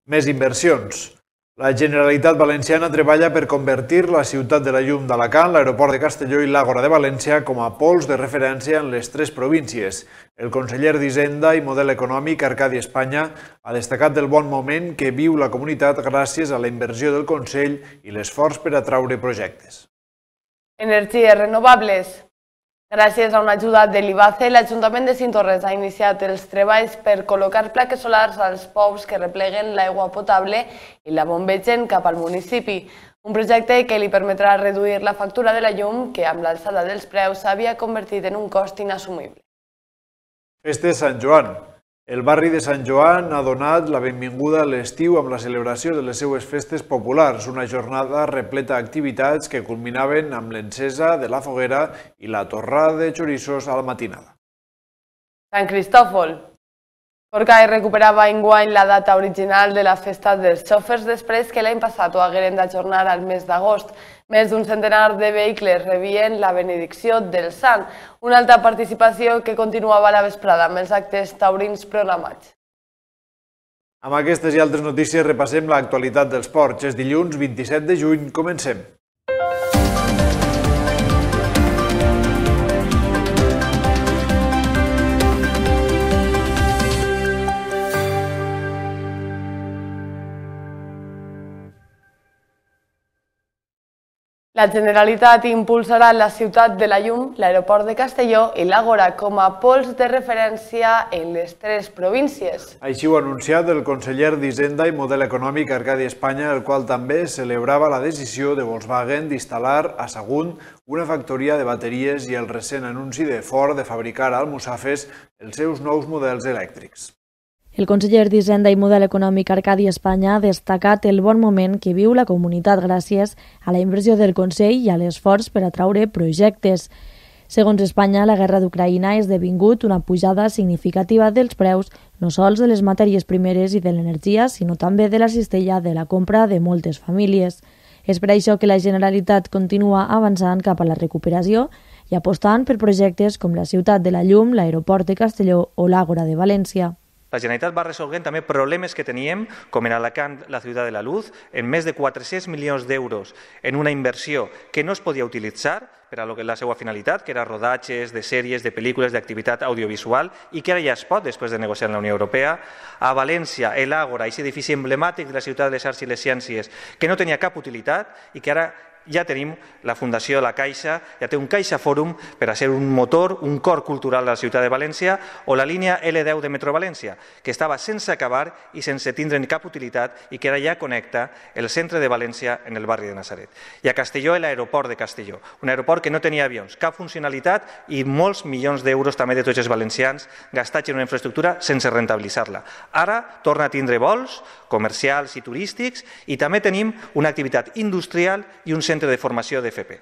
Més inversions. La Generalitat Valenciana treballa per convertir la ciutat de la llum d'Alacant, l'aeroport de Castelló i l'Àgora de València com a pols de referència en les tres províncies. El conseller d'Hisenda i Model Econòmic, Arcadi Espanya, ha destacat del bon moment que viu la comunitat gràcies a la inversió del Consell i l'esforç per atraure projectes. Energies renovables. Gràcies a una ajuda de l'IBACE, l'Ajuntament de Cinctorres ha iniciat els treballs per col·locar plaques solars als pous que repleguen l'aigua potable i la bombegen cap al municipi. Un projecte que li permetrà reduir la factura de la llum que amb l'alçada dels preus s'havia convertit en un cost inassumible. Festes Sant Joan. El barri de Sant Joan ha donat la benvinguda a l'estiu amb la celebració de les seues festes populars, una jornada repleta d'activitats que culminaven amb l'encesa de la foguera i la torrada de xorissos a la matinada. Sant Cristòfol. Forcall recuperava enguany la data original de la festa dels xòfers després que l'any passat ho hagueren d'ajornar al mes d'agost. Més d'un centenar de vehicles rebien la benedicció del sant, una alta participació que continuava a la vesprada amb els actes taurins programats. Amb aquestes i altres notícies repassem l'actualitat dels ports. És dilluns 27 de juny, comencem. La Generalitat impulsarà la ciutat de la llum, l'aeroport de Castelló i l'Àgora com a pols de referència en les tres províncies. Així ho ha anunciat el conseller d'Hisenda i Model Econòmic Arcadi Espanya, el qual també celebrava la decisió de Volkswagen d'instal·lar a Sagunt una factoria de bateries i el recent anunci de Ford de fabricar a Almussafes els seus nous models elèctrics. El conseller d'Hisenda i Model Econòmic Arcadi Espanya ha destacat el bon moment que viu la comunitat gràcies a la inversió del Consell i a l'esforç per atraure projectes. Segons Espanya, la guerra d'Ucraïna ha esdevingut una pujada significativa dels preus no sols de les matèries primeres i de l'energia, sinó també de la cistella de la compra de moltes famílies. És per això que la Generalitat continua avançant cap a la recuperació i apostant per projectes com la Ciutat de la Llum, l'Aeroport de Castelló o l'Àgora de València. La Generalitat va resolent també problemes que teníem, com en Alacant, la Ciutat de la Luz, en més de 400 milions d'euros en una inversió que no es podia utilitzar per a la seva finalitat, que era rodatges de sèries, de pel·lícules, d'activitat audiovisual, i que ara ja es pot, després de negociar amb la Unió Europea. A València, l'Àgora, aquest edifici emblemàtic de la ciutat de les arts i les ciències, que no tenia cap utilitat i que ara ja tenim la Fundació de la Caixa, ja té un Caixa Fòrum per a ser un motor, un cor cultural de la ciutat de València, o la línia L10 de Metro València, que estava sense acabar i sense tindre cap utilitat i que ara ja connecta el centre de València en el barri de Natzaret. I a Castelló, l'aeroport de Castelló, un aeroport que no tenia avions, cap funcionalitat i molts milions d'euros també de tots els valencians gastats en una infraestructura sense rentabilitzar-la. Ara torna a tindre vols comercials i turístics i també tenim una activitat industrial i un centre de formació d'FP.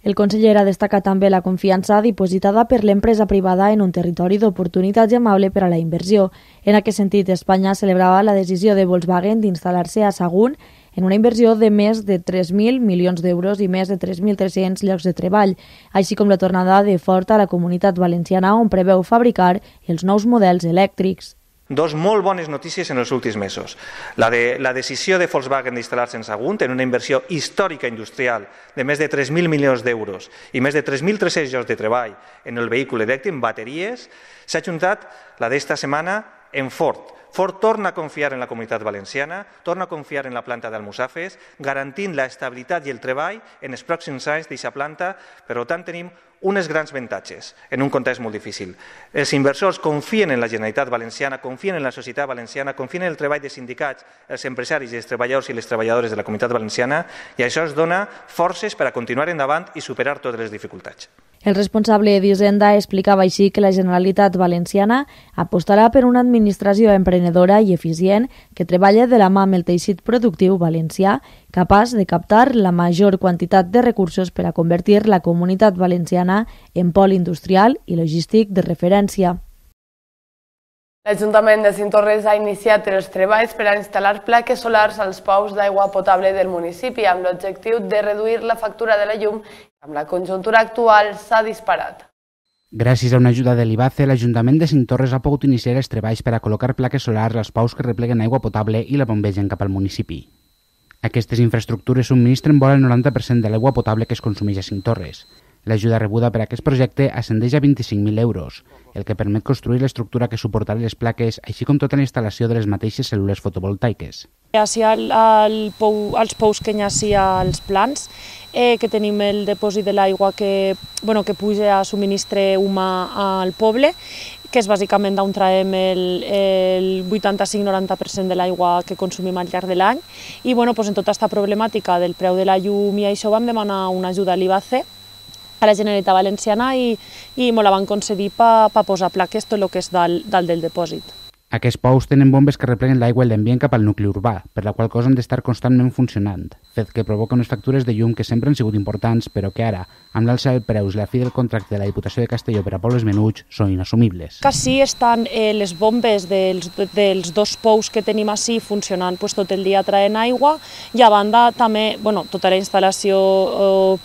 El conseller ha destacat també la confiança dipositada per l'empresa privada en un territori d'oportunitats i amable per a la inversió. En aquest sentit, Espanya celebrava la decisió de Volkswagen d'instal·lar-se a Sagunt en una inversió de més de 3.000 milions d'euros i més de 3.300 llocs de treball, així com la tornada de Ford a la comunitat valenciana on preveu fabricar els nous models elèctrics. Dos molt bones notícies en els últims mesos. La decisió de Volkswagen d'instal·lar-se en Sagunt en una inversió històrica industrial de més de 3.000 milions d'euros i més de 3.300 llocs de treball en el vehicle elèctric, en bateries, s'ha ajuntat la d'esta setmana en Ford. Ford torna a confiar en la comunitat valenciana, torna a confiar en la planta d'Almussafes, garantint l'estabilitat i el treball en els pròxims anys d'aquesta planta. Per tant, tenim unes grans avantatges en un context molt difícil. Els inversors confien en la Generalitat Valenciana, confien en la societat valenciana, confien en el treball de sindicats, els empresaris i els treballadors i les treballadores de la comunitat valenciana, i això ens dona forces per a continuar endavant i superar totes les dificultats. El responsable d'Hisenda explicava així que la Generalitat Valenciana apostarà per una administració emprenedora i eficient que treballa de la mà amb el teixit productiu valencià, capaç de captar la major quantitat de recursos per a convertir la comunitat valenciana en pol industrial i logístic de referència. L'Ajuntament de Cinctorres ha iniciat els treballs per a instal·lar plaques solars als pous d'aigua potable del municipi amb l'objectiu de reduir la factura de la llum que amb la conjuntura actual s'ha disparat. Gràcies a una ajuda de l'IBACE, l'Ajuntament de Cinctorres ha pogut iniciar els treballs per a col·locar plaques solars als pous que repleguen aigua potable i la bombegen cap al municipi. Aquestes infraestructures subministren vora el 90% de l'aigua potable que es consumeix a Cinctorres. L'ajuda rebuda per a aquest projecte ascendeix a 25.000 euros, el que permet construir l'estructura que suportarà les plaques, així com tota la instal·lació de les mateixes cèl·lules fotovoltaiques. Així als pous que hi ha als plans, que tenim el depòsit de l'aigua que puja a subministre humà al poble, que és bàsicament d'on traiem el 85-90% de l'aigua que consumim al llarg de l'any. I en tota aquesta problemàtica del preu de la llum i això vam demanar una ajuda a l'IBACE, a la Generalitat Valenciana, i me la van concedir per posar plaques tot el que és dalt del depòsit. Aquests pous tenen bombes que repleguen l'aigua i l'envien cap al nucli urbà, per la qual cosa han d'estar constantment funcionant, fet que provoca unes factures de llum que sempre han sigut importants, però que ara, amb l'alça de preus i la fi del contracte de la Diputació de Castelló per a pobles menuts, són inassumibles. Quasi estan les bombes dels dos pous que tenim així funcionant tot el dia traient aigua, i a banda també tota la instal·lació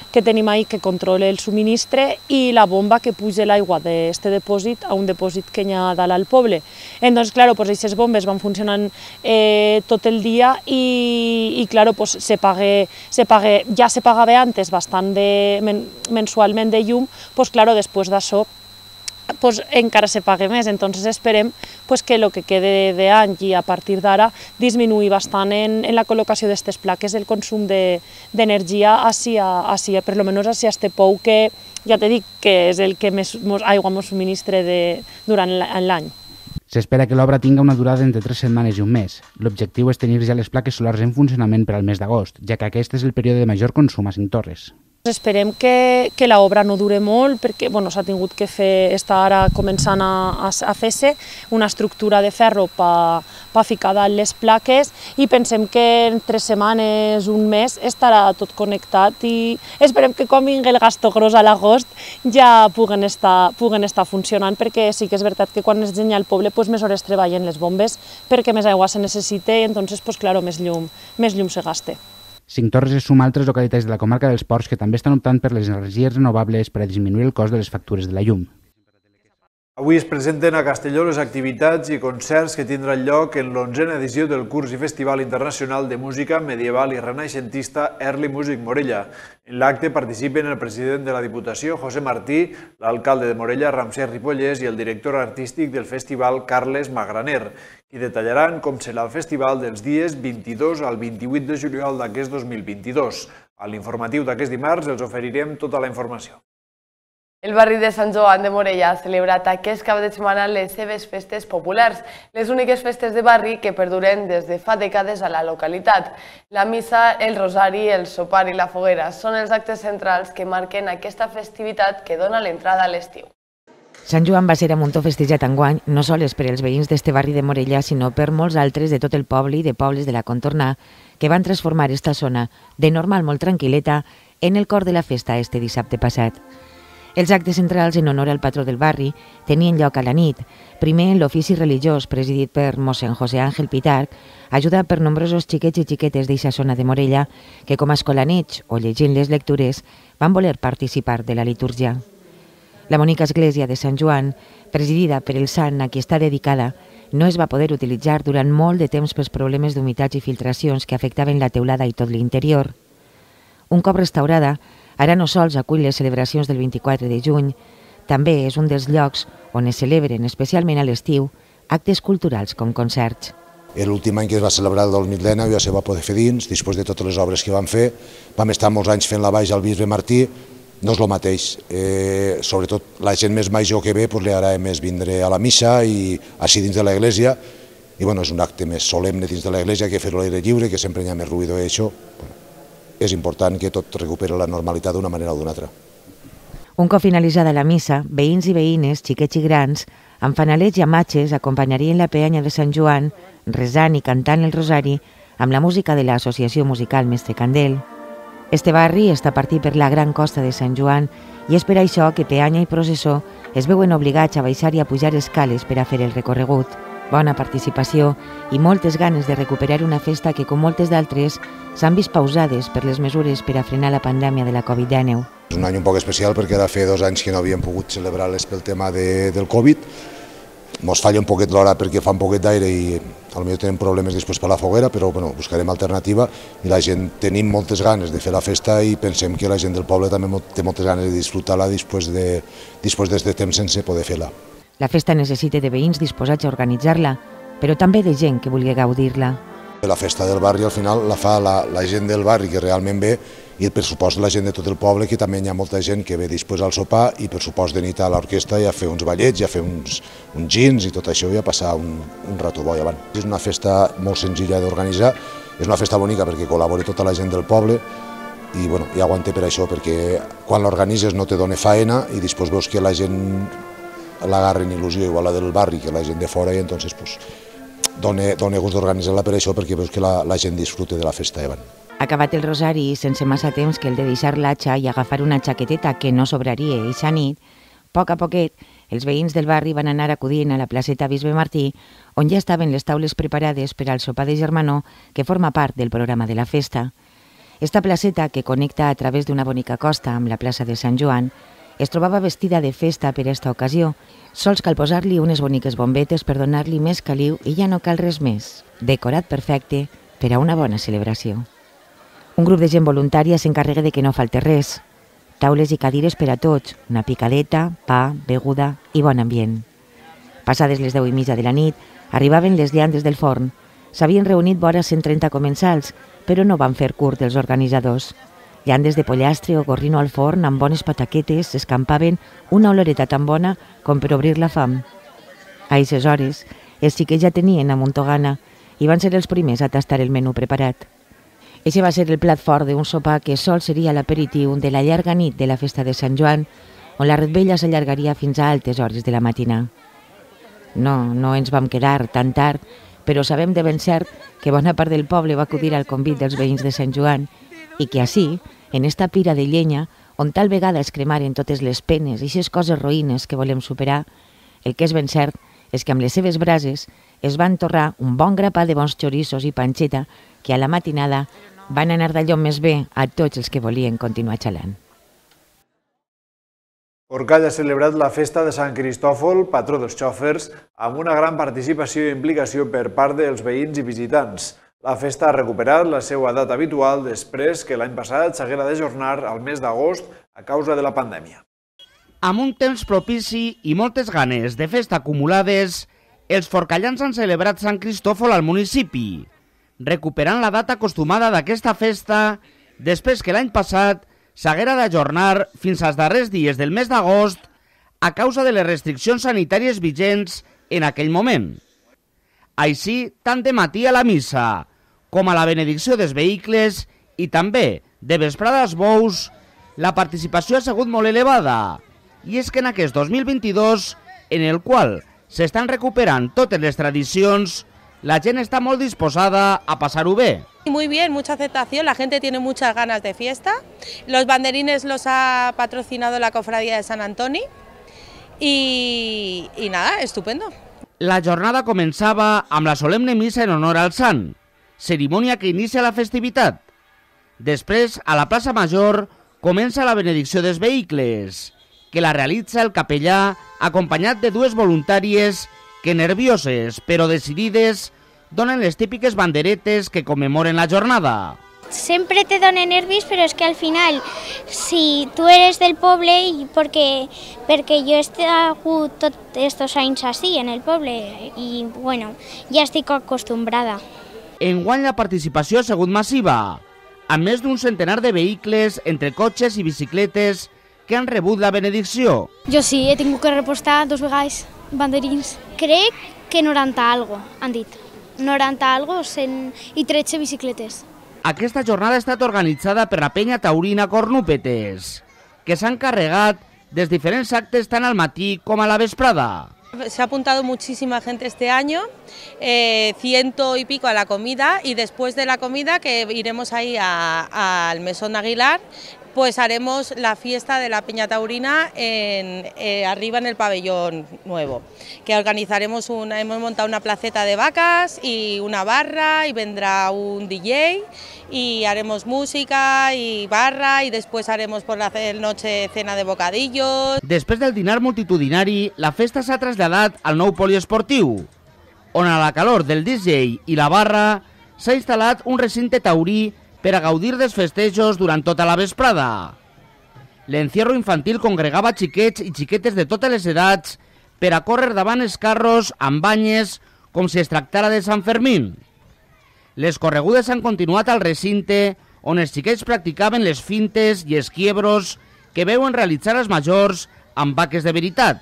que tenim ahí que controla el subministre i la bomba que puja l'aigua d'aquest depòsit a un depòsit que hi ha dalt al poble. Entonces, claro, aquestes bombes van funcionant tot el dia i claro, ja se pagava antes bastant mensualment de llum, claro, després d'això encara se paga més. Entonces esperem que el que quede d'any i a partir d'ara disminuir bastant en la col·locació d'aquestes plaques el consum d'energia per almenys a este pou que ja t'he dit que és el que més aigua ens subministra durant l'any. S'espera que l'obra tinga una durada entre 3 setmanes i un mes. L'objectiu és tenir ja les plaques solars en funcionament per al mes d'agost, ja que aquest és el període de major consum a Cinctorres. Esperem que l'obra no dure molt perquè s'ha tingut que fer, està ara començant a fer-se una estructura de ferro per ficar dalt les plaques i pensem que en 3 setmanes, un mes, estarà tot connectat i esperem que quan vingui el gasto gros a l'agost ja puguen estar funcionant, perquè sí que és veritat que quan es genya el poble més hores treballen les bombes perquè més aigua se necessita i entonces més llum se gasta. Cinctorres es suma a altres localitats de la comarca dels Ports que també estan optant per les energies renovables per a disminuir el cost de les factures de la llum. Avui es presenten a Castelló les activitats i concerts que tindran lloc en l'11a edició del curs i Festival Internacional de Música Medieval i Renaixentista Early Music Morella. En l'acte participen el president de la Diputació, José Martí, l'alcalde de Morella, Ramsès Ripollès, i el director artístic del festival, Carles Magraner, i detallaran com serà el festival dels dies 22 al 28 de juliol d'aquest 2022. A l'informatiu d'aquest dimarts els oferirem tota la informació. El barri de Sant Joan de Morella ha celebrat aquest cap de setmana les seves festes populars, les úniques festes de barri que perduren des de fa dècades a la localitat. La missa, el rosari, el sopar i la foguera són els actes centrals que marquen aquesta festivitat que dona l'entrada a l'estiu. Sant Joan va ser a muntó festejat enguany, no sols per als veïns d'este barri de Morella, sinó per molts altres de tot el poble i de pobles de la contorna, que van transformar esta zona, de normal molt tranquil·leta, en el cor de la festa este dissabte passat. Els actes centrals en honor al patró del barri tenien lloc a la nit, primer en l'ofici religiós presidit per mossèn José Ángel Pitarch, ajudat per nombrosos xiquets i xiquetes d'eixa zona de Morella que com a escolanets o llegint les lectures van voler participar de la litúrgia. La bonica església de Sant Joan, presidida per el sant a qui està dedicada, no es va poder utilitzar durant molt de temps pels problemes d'humitats i filtracions que afectaven la teulada i tot l'interior. Un cop restaurada, ara no sols acull les celebracions del 24 de juny, també és un dels llocs on es celebren, especialment a l'estiu, actes culturals com concerts. L'últim any que es va celebrar el del Mitlena ja se va poder fer dins, després de totes les obres que vam fer. Vam estar molts anys fent la baix al bisbe Martí, no és el mateix. Sobretot la gent més major que ve li agrada més vindre a la missa i així dins de l'església. I és un acte més solemne dins de l'església que fer-ho a l'aire lliure, que sempre hi ha més ruïdor i això. És important que tot recuperi la normalitat d'una manera o d'una altra. Un cop finalitzada la missa, veïns i veïnes, xiquets i grans, amb fanalets i amatges acompanyarien la peanya de Sant Joan, resant i cantant el rosari amb la música de l'Associació Musical Mestre Candel. Este barri està partit per la gran costa de Sant Joan i és per això que peanya i processó es veuen obligats a baixar i a pujar escales per a fer el recorregut. bona participació i moltes ganes de recuperar una festa que, com moltes d'altres, s'han vist pausades per les mesures per a frenar la pandèmia de la Covid-19. És un any un poc especial perquè ara feia 2 anys que no havíem pogut celebrar-les pel tema del Covid. Ens falla un poquet l'hora perquè fa un poquet d'aire i potser tenim problemes després per la foguera, però bueno, buscarem alternativa i la gent tenim moltes ganes de fer la festa i pensem que la gent del poble també té moltes ganes de disfrutar-la després d'aquest temps sense poder fer-la. La festa necessita de veïns disposats a organitzar-la, però també de gent que vulgui gaudir-la. La festa del barri al final la fa la gent del barri que realment ve i per supost la gent de tot el poble, que també hi ha molta gent que ve després al sopar i per supost de nit a l'orquestra i a fer uns ballets i a fer uns gins i tot això i a passar un rato bo i avant. És una festa molt senzilla d'organitzar, és una festa bonica perquè col·labora tota la gent del poble i bueno, ja aguante per això, perquè quan l'organitzes no te dona faena i després veus que la gent l'agarren il·lusió igual a la del barri que la gent de fora i entonces dona gust d'organitzar-la per això perquè veus que la gent disfruta de la festa davant. Acabat el rosari, sense massa temps que el de deixar l'atxa i agafar una jaqueteta que no sobraria eixa nit, a poquet, els veïns del barri van anar acudint a la placeta Bisbe Martí, on ja estaven les taules preparades per al sopar de germanor que forma part del programa de la festa. Esta placeta, que connecta a través d'una bonica costa amb la plaça de Sant Joan, es trobava vestida de festa per esta ocasió. Sols cal posar-li unes boniques bombetes per donar-li més caliu i ja no cal res més. Decorat perfecte per a una bona celebració. Un grup de gent voluntària s'encarrega de que no falte res. Taules i cadires per a tots, una picadeta, pa, beguda i bon ambient. Passades les 10:30 de la nit, arribaven les llandes del forn. S'havien reunit vora 130 comensals, però no van fer curt els organitzadors. Llandes de pollastre o gorrino al forn amb bones pataquetes s'escampaven una oloreta tan bona com per obrir la fam. A aquestes hores, els xiquets ja tenien amuntogana i van ser els primers a tastar el menú preparat. Eixe va ser el plat fort d'un sopar que sol seria l'aperitiu de la llarga nit de la festa de Sant Joan, on la revetlla s'allargaria fins a altes hores de la matina. No ens vam quedar tan tard, però sabem de ben cert que bona part del poble va acudir al convit dels veïns de Sant Joan i que així, en esta pira de llenya, on tal vegada es cremaren totes les penes i aquestes coses roïnes que volem superar, el que és ben cert és que amb les seves brases es van torrar un bon grapà de bons xorissos i panxeta que a la matinada van anar d'allò més bé a tots els que volien continuar xalant. Orcall ha celebrat la festa de Sant Cristòfol, patró dels xòfers, amb una gran participació i implicació per part dels veïns i visitants. La festa ha recuperat la seva data habitual després que l'any passat s'haguera d'ajornar al mes d'agost a causa de la pandèmia. Amb un temps propici i moltes ganes de festa acumulades, els forcallans han celebrat Sant Cristòfol al municipi, recuperant la data acostumada d'aquesta festa després que l'any passat s'haguera d'ajornar fins als darrers dies del mes d'agost a causa de les restriccions sanitàries vigents en aquell moment. Així, tant de matí a la missa com a la benedicció dels vehicles i també de vesprada als bous, la participació ha sigut molt elevada. I és que en aquest 2022, en el qual s'estan recuperant totes les tradicions, la gent está muy disposada a pasar bé. Muy bien, mucha aceptación, la gente tiene muchas ganas de fiesta. Los banderines los ha patrocinado la Cofradía de Sant Antoni y nada, estupendo. La jornada començava amb la solemne missa en honor al sant, cerimònia que inicia la festivitat. Després, a la plaça Major, comença la benedicció dels vehicles, que la realitza el capellà acompanyat de dues voluntàries que, nervioses però decidides, donen les típiques banderetes que commemoren la jornada. Siempre te dona nervis, pero es que al final, si tú eres del poble, y porque yo he estado todos estos años así en el poble, y bueno, ya estoy acostumbrada. Enguany la participació ha sigut massiva, amb més d'un centenar de vehicles entre cotxes i bicicletes que han rebut la benedicció. Jo sí, he tingut que repostar 2 vegades banderins. Crec que 90 algo, han dit. 90 algo i 13 bicicletes. Aquesta jornada ha estat organitzada per la penya taurina Cornúpetes, que s'han encarregat dels diferents actes tant al matí com a la vesprada. Se ha apuntado muchísima gente este año, 100 y pico a la comida, y después de la comida que iremos ahí al Mesón Aguilar, pues haremos la fiesta de la Peña Taurina arriba en el pabellón nuevo, que organizaremos hemos montado una placeta de vacas y una barra y vendrá un DJ y haremos música y barra y después haremos por la noche cena de bocadillos. Després del dinar multitudinari, la festa s'ha traslladat al nou poliesportiu, on a la calor del DJ i la barra s'ha instal·lat un recinte taurí per a gaudir dels festejos durant tota la vesprada. L'encierro infantil congregava xiquets i xiquetes de totes les edats per a córrer davant els carros amb banyes com si es tractara de Sant Fermín. Les corregudes han continuat al recinte on els xiquets practicaven les fintes i els quiebros que veuen realitzar els majors amb vaques de veritat.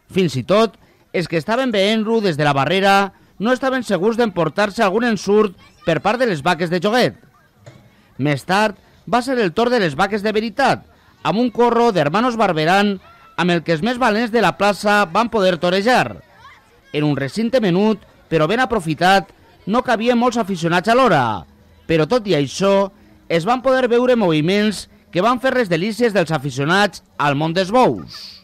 Fins i tot, els que estaven veient-lo des de la barrera no estaven segurs d'emportar-se algun ensurt per part de les vaques de joguet. Més tard va ser el torn de les vaques de veritat, amb un corro d'hermanos Barberán amb el que els més valents de la plaça van poder torejar. En un recinte menut, però ben aprofitat, no cabien molts aficionats alhora, però tot i això es van poder veure moviments que van fer les delícies dels aficionats al món dels bous.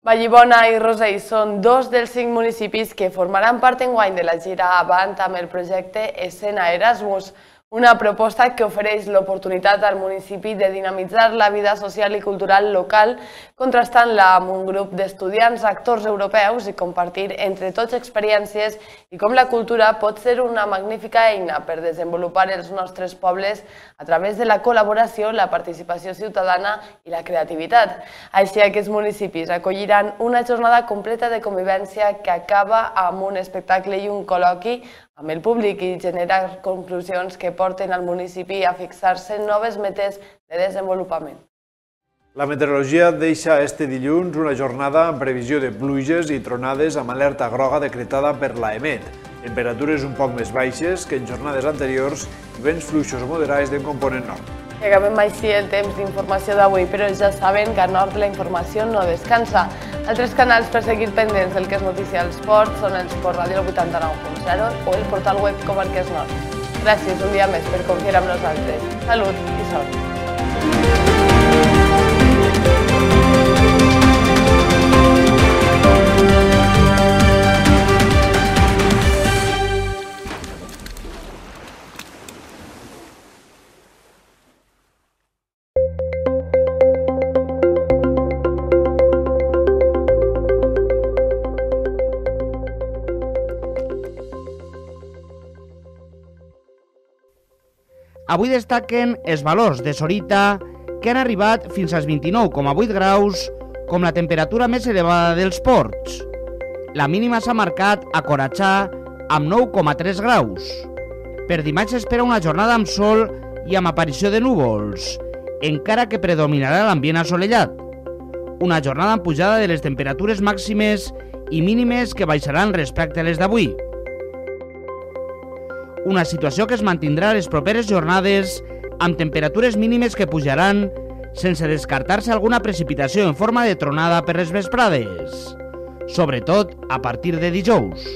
Vallibona i Rosell són dos dels 5 municipis que formaran part enguany de la gira Avant amb el projecte Escena Erasmus, una proposta que ofereix l'oportunitat al municipi de dinamitzar la vida social i cultural local, contrastant-la amb un grup d'estudiants, actors europeus i compartir entre tots experiències i com la cultura pot ser una magnífica eina per desenvolupar els nostres pobles a través de la col·laboració, la participació ciutadana i la creativitat. Així, aquests municipis acolliran una jornada completa de convivència que acaba amb un espectacle i un col·loqui amb el públic i generar conclusions que porten al municipi a fixar-se noves metes de desenvolupament. La meteorologia deixa este dilluns una jornada amb previsió de pluges i tronades amb alerta groga decretada per l'AEMET. Temperatures un poc més baixes que en jornades anteriors i vents fluixos o moderats de component nord. I acabem així el temps d'informació d'avui, però ja saben que a nord la informació no descansa. Altres canals per seguir pendents del que és notícia als ports són el Sport Ràdio 89.0 o el portal web Comarques Nord. Gràcies un dia més per confiar amb nosaltres. Salut i sort. Avui destaquen els valors de Sorita, que han arribat fins als 29,8 graus, com la temperatura més elevada dels ports. La mínima s'ha marcat a Coratxà, amb 9,3 graus. Per dimarts s'espera una jornada amb sol i amb aparició de núvols, encara que predominarà l'ambient assolellat. Una jornada amb pujada de les temperatures màximes i mínimes que baixaran respecte a les d'avui. Una situació que es mantindrà les properes jornades amb temperatures mínimes que pujaran sense descartar-se alguna precipitació en forma de tronada per les vesprades, sobretot a partir de dijous.